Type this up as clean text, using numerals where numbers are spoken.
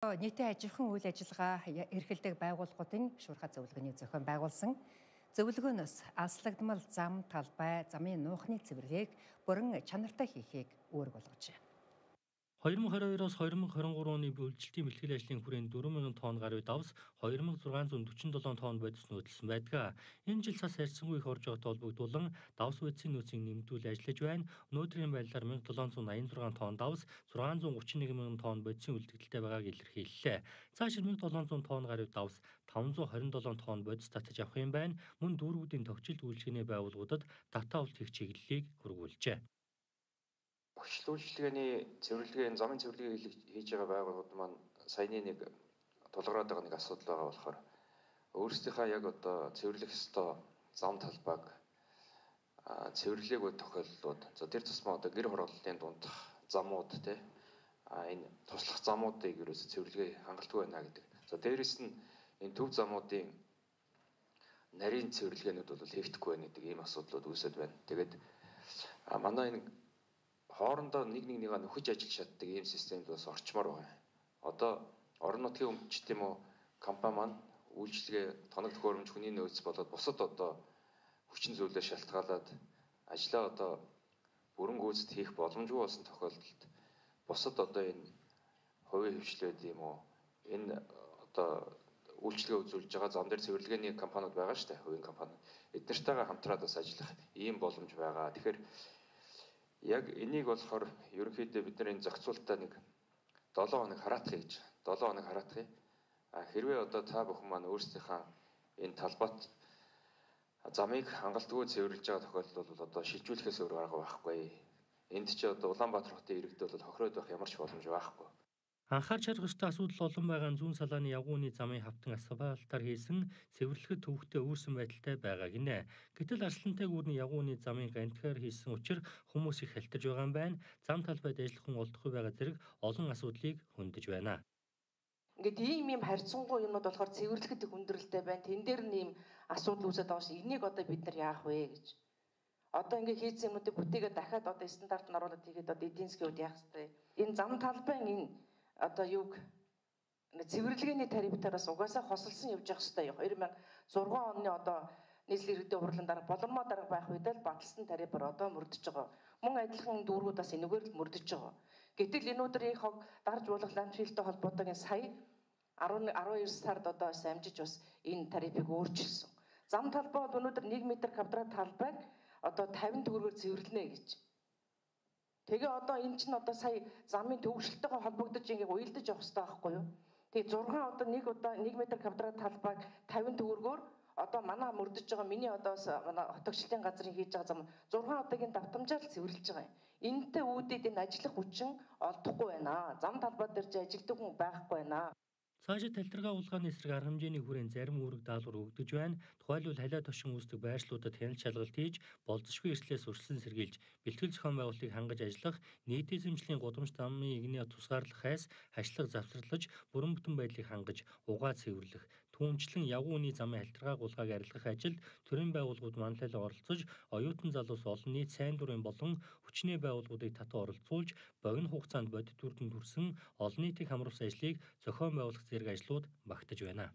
Нийтийн ажихуйн үйл ажиллагаа эрхэлдэг байгууллагуудын шуурхай зөвлөгөөний зохион байгуулсан зөвлөгөөнөөс алслагдмал зам талбай замын нуухны цэвэрлэгийг бүрэн чанартай хийхийг үүрэг болгожээ. 2022-оос 2023 оны үйлчлэлтийн бэлтгэл ажлын хүрээнд 4,000 тонн гаруй давс 2,647 тонн бодис нөөцлсөн байдаг. Энэ жил цас харьцангуй их орж байгаатай холбогдуулан давс бодисын нөөцийг нэмэгдүүл ажиллаж байна. Өнөөдрийн байдлаар 1,786 тонн давс 631,000 тонн бодисын үлдэгдэлтэй байгааг илэрхийллээ. Цааш 1,700 тонн гаруй давс 527 тонн бодис татаж авах юм байна. Мөн дүүргүүдийн тогтжилт үйлчилгээний байгууллагуудад татаа авалт хийх чиглэлийг хургуулжээ. Хүчлүүлжлэгээний цэвэрлэгээ, замын цэвэрлэгээ хийж байгаа байгууллагууд маань саяны нэг тулгараад байгаа нэг асуудал байгаа болохоор өөрсдийнхөө яг одоо цэвэрлэх ёстой зам талбайг цэвэрлээгүй тохиолдлууд тэр тусмаа одоо гэр хорооллын дундах замууд энэ туслах замуудыг ерөөсө цэвэрлэгээ хангалтгүй байна гэдэг. Дээрэс нь энэ төв замуудын нарийн цэвэрлэгээнүүд бол хийгдэхгүй байна гэдэг ийм асуудлууд үүсэт байна. Тэгээд манай энэ хоорондоо нэг нэгээ нөхөж ажиллаж чаддаг ийм системд бас орчмоор байна. Одоо орон нутгийн өмчт юм уу компани маань үйлчлэгээ тоног төхөөрөмж хүний нөөц болоод бусад одоо хүчин зүйлээ шалтгаалаад ажлаа одоо бүрэн гүйцэд хийх боломжгүй болсон тохиолдолд бусад одоо энэ хувийн хвшлээд юм уу энэ одоо үйлчлэгээ үзүүлж байгаа зам дээр цэвэрлэгээний компаниуд байгаа шүү дээ, хувийн компани. Эднэртэйгээ хамтраад бас ажиллах ийм боломж байгаа. Тэгэхээр яг энийг болохоор ерөнхийдөө бид нар энэ зохицуултаа нэг 7 хоног хараатах гэж 7 хоног хараатах. Хэрвээ одоо та бүхэн маань өөрсдийнхээ энэ талбайт замыг хангалтгүй цэвэрлж байгаа тохиолдолд бол одоо шилжүүлэхээс өөр арга байхгүй. Энд чи одоо Улаанбаатар хотын иргэд бол хохироод байх ямар ч боломж байхгүй. Анхаарч харах ёстой асуудал олон байгаа зүүн салааны явгууны замын хавтан асфальтаар хийсэн цэвэрлэхэд төвөгтэй өөрсөн байдалтай байгаа гинэ. Гэтэл арслантай гүрний явгууны замын гантгаар хийсэн учраас хүмүүс их халтарж байгаа юм байна. Зам талбайд ажиллах хүн олдохгүй байгаа зэрэг олон асуудлыг хөндөж байна. Ингээд ийм харьцангуй юмнууд болохоор цэвэрлэхэд их хүндрэлтэй байна. Тэн дээр нь ийм асуудал үүсэж байгаа шүү. Энийг одоо бид нар яах вэ гэж. Одоо ингээд хийсэн юмнуудыг бүтээгээд дахиад одоо стандарт нь оруулаад хийгээд одоо эдийн засгийн үед яах вэ? Энэ зам талбайн энэ одоо юг цэвэрлэгээний тарифтараас угаасаа хосолсон явж явах хэрэгтэй. 2006 оны одоо нийслэлийн иргэдийн хурлын дараа болормоо дарга байх үед л баталсан тарифаар одоо мөрдөж байгаа. Мөн адилхан дүүргүүд бас энэгээр л мөрдөж байгаа. Гэтэл энэ өдрийн хог дарж болох ландфилтэй холбоотойгоо сая 12 сард одоо амжиж бас энэ тарифыг өөрчилсөн. Зам талбай бол өнөөдөр 1 м квадрат талбайг одоо 50 төгрөгөөр цэвэрлэнэ гэж. Тэгээ одоо эн чинь одоо сая замын төвөгшөлтөйгөө холбогдож ингээ уялдаж явах хэрэгтэй байхгүй юу? Тэгээ 6 одоо 1 м квадрат талбайг 50 төгрөгөөр одоо манай мөрдөж байгаа миний одоо манай хотогчлын газрын хийж байгаа зам 6 удаагийн давтамжаар цэвэрлж байгаа юм. Энэтэй үүдээд энэ ажиллах хүчин олдохгүй байна. Зам талбай дээр ч ажилтдаг хүн байхгүй байна. Цаашид талтаргаа улгааны эсрэг арга хэмжээний хүрээнд зарим үүрэг даалгавар өгдөж байна. Тухайлбал халиа тошин үүсдэг байршлуудад хяналт шалгалт хийж, болзошгүй эрслээс урьдчилан сэргийлж, бэлтгэл зохион байгуулалтыг хангаж ажиллах, нийтийн эзэмшлийн гудамж замын игний тусгаарлах хайс, хашлах завсарлаж, бүрэн бүтэн байдлыг хангаж, угаа цэвэрлэх, түүнчлэн явгууны замын халтаргааг улгааг арилгах ажилд төрийн байгууллагууд манлайлан оролцож, оюутан залуус олон нийт сайн дурын болон хүчний байгууллагуудыг татан оролцуулж, богино хугацаанд бодит үр дүнд хүрсэн олон нийтийг хамруулсан ажлыг зохион байгуулах зэрэг ажлууд багтаж байна.